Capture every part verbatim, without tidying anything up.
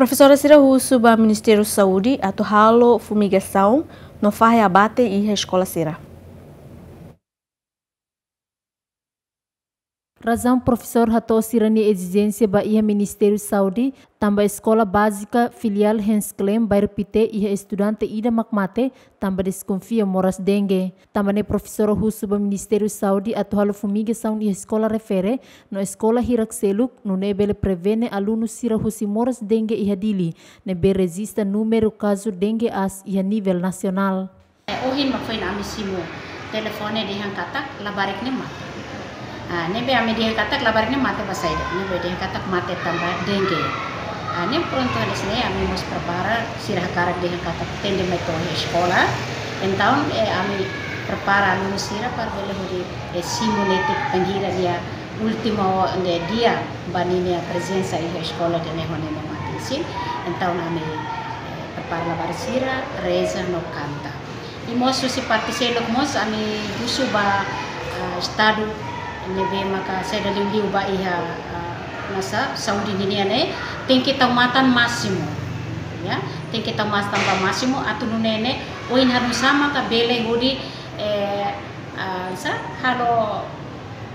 Profesora sira husu ba Ministériu Saúde atu halo fumigasaun no fahe abate iha eskola sira. Razaun profesór hato'o sira-nia ezijénsia ba iha Ministériu Saúde, tanba eskola bázika filiál Hans Klem, bairru Pité, iha estudante ida mak mate, tanba deskonfia moras dengue. Tanba ne'e profesora husu ba Ministériu Saúde atu halo fumigasaun iha eskola refere no eskola hirak seluk, nune'e bele prevene alunu sira husi moras dengue iha Dili, ne'ebé rejista númeru kazu dengue aas iha nivel nasionál. Eh, ohin mak foin ami simu telefone dehan katak labarik ne'e mate. Ah, ne'ebé ami dehan katak labarik ne'e mate ba saida. Ne'ebé dehan katak mate tanba dengue. Ah, ne'e prontu hanesan ne'e ami mós prepara, sira hakarak dehan katak tende mai to'o eskola. Entaun, eh, ami prepara alunu sira para bele hodi, eh, simu netik bainhira nia últimu, ne'e, dia ba ninia prezensa iha eskola ida-ne'e ho ninia mate-isin. Entaun ami, eh, prepara labarik sira, reza no kanta. I mós husi parte seluk mós ami husu ba, ah, Estadu ne'ebé maka saida liuliu ba iha, ah, masa saúde ninian ne'e, tenke tau matan másimu. Ya, tenke tau matan ba másimu atu nune'e ne'e, oinsá maka bele hodi, eh, ah, sá, halo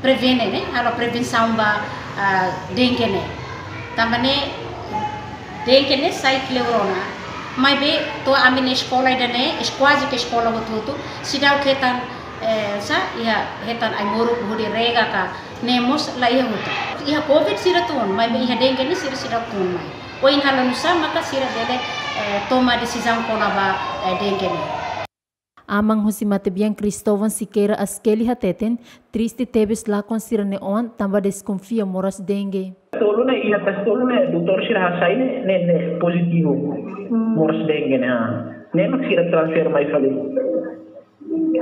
prevene ne'e, halo prevensaun ba, ah, dengue ne'e. Tanba ne'e dengue ne'e sai kleur ona. Maibé to'o ami-nia eskola ida-ne'e, es-, kuaze ke eskola hotu-hotu, seidauk hetan, eh, sá, iha hetan ai-moruk hodi rega ka ne'e mós la iha hotu. Iha covid sira tun, maibé iha dengue ne'e sira seidauk tun mai. Oinsá la nusá maka sira bele, eh, toma desizaun kona-ba, eh, dengue ne'e. Aman husi matebian Cristóvão Siqueira Asqueli hateten, triste tebes lakon sira-nia oan tanba deskonfia moras dengue. Tolu ne'e, iha tas tolu ne'e, doutór sira hasai ne'e, ne'e, ne'e pozitivu. Hmm. Moras dengue ne'e, ah. Ne'e mak sira transfer mai fali.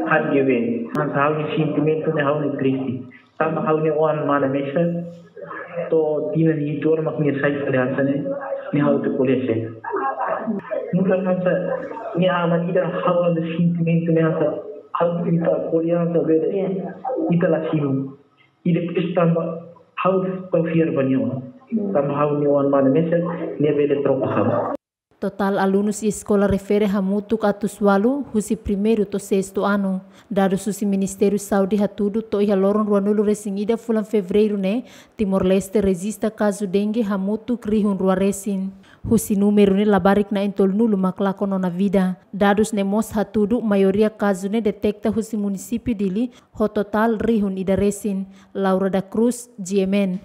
H G V. Mas ha'u-nia sentimentu ne'e ha'u ne'e triste. Tanba ha'u-nia oan mana mesak, to'o tinan hitu ona mak nia sai fali hanesan ne'e, nia ha'u atu ko'alia sé. Nu'udar hanesan, nia aman ida ha'u-nia sentimentu ne'e hanesan, ha'u atu ita ko'alia hanesan bele, iya, ita la simu. I depois tanba ha'u tau fiar ba nia oan. Hmm. Tanba ha'u-nia oan mana mesak, nia bele troka ha'u. Totál alunus iha eskola refere hamutuk atus ualu, husi primeiru to'o sestu anu. Dadus husi Ministériu Saúde hatudu to'o iha loron ruanulu resin ida fulan Fevereiru ne'e, Timor-Leste rejista kazu dengue hamutuk rihun rua resin. Husi númeru ne'e labarik na'in-tolunulu mak lakon ona vida. Dadus ne'e mós hatudu maioria kazu ne'e deteta husi munisípiu Dili, ho totál rihun ida resin. Laura da Cruz, G M N.